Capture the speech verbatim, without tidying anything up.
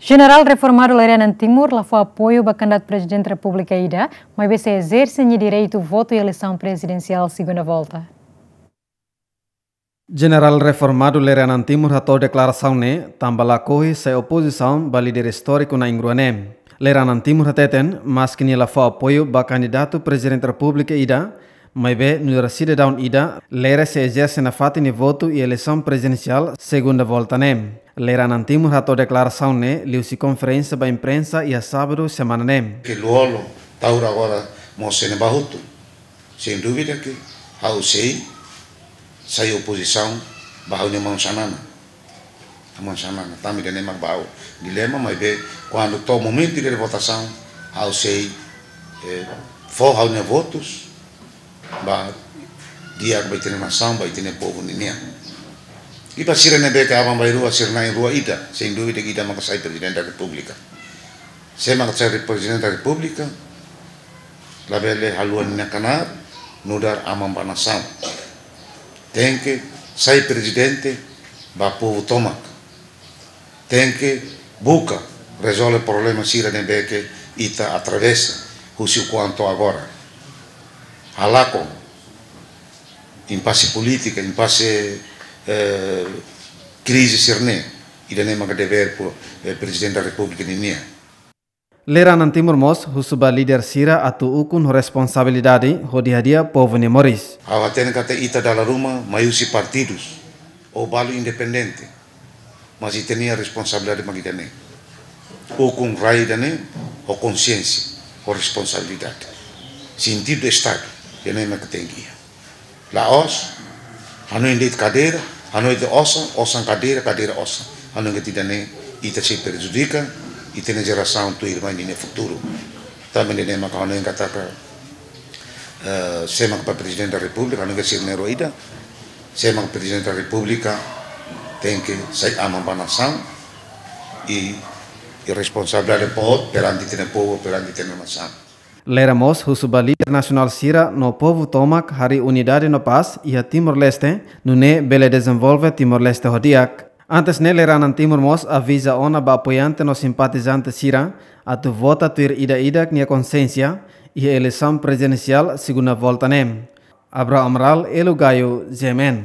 Jenerál reformadu Lere Anan Timur la fó apoiu ba kandidatu Prezidente Repúblika ida, maibé sei ezerse nia direitu votu iha eleisaun prezidensiál segunda volta. Jenerál reformadu Lere Anan Timur hato'o deklarasaun ne'e tanba lakohi sai opozisaun ba líder istóriku na'in-rua ne'e. Lere Anan Timur hateten, maski nia la fó apoiu ba kandidatu Prezidente Repúblika ida, maibé nu'udar sidadaun ida, Lere sei ezerse nafatin nia votu iha eleisaun prezidensiál segunda volta ne'e. Lere Anan Timur hato'o deklarasaun ne'e liuhusi konferénsia ba imprensa iha sábadu semana ne'e. Ke lolo, taur agora mós sei ne'e ba hotu. Sem dúvida ke ha'u sei sai opozisaun ba ha'u-nia maun Xanana. Maun Xanana, tanba ida-ne'e mak ba ha'u dilema, maibé kuandu to'o momentu de votasaun, ha'u sei, eh, fó ha'u-nia votus ba di'ak ba ita-nia nasaun, ba ita-nia povu ninian. I ba sira ne'ebé ke aban-bainrua, sira na'in-rua ida, sem dúvida ida maka sai Prezidente da Repúblika. Sé maka sai Prezidente da Repúblika, labele haluha nia knaar nu'udar aman ba nasaun. Tenke sai prezidente ba povu tomak. Tenke buka rezolve problema sira ne'ebé ke ita atravesa husi kuandu agora. Halakon impase polítika, impase, eh, krize sira-ne'e, ida-ne'e maka devér po, eh, Prezidente da Repúblika ninian. Lere Anan Timur mós husu ba líder sira atu ukun ho responsabilidade hodi hadi'a povu nia moris. Ha'u hatene katak ita dala ruma mai husi partidus ou balu independente, mas ita-nia responsabilidade mak ida-ne'e. Ukun rai ida-ne'e ho konsiénsia, ho responsabilidade. Sentidu Estadu, ida-ne'e mak tenke iha. La'ós hanoin de'it kadeira, hanoin de'it osan, osan kadeira, kadeira osan. Hanoin katak ida-ne'e ita sei prejudika ita-nia jerasaun tuirmai ninia futuru. Tanba ne'e maka hanoin katak, eh, sé maka ba Prezidente da Repúblika, hanoin katak sira na'in-rua ida, sé maka Prezidente da Repúblika tenke sai aman ba nasaun i, i responsabilidade boot perante ita-nia povu, perante ita-nia nasaun. Lere mós husu ba líder nasionál sira no povu tomak harii unidade no pás iha Timor-Leste, nune'e bele dezenvolve Timor-Leste ho di'ak. Antes ne'e Lere Anan Timur mós aviza ona ba apoiante no simpatizante sira atu vota tuir ida-idak nia konsiénsia iha eleisaun prezidensiál segunda volta ne'e. Abraham Amaral, Elo Gayo, G M N.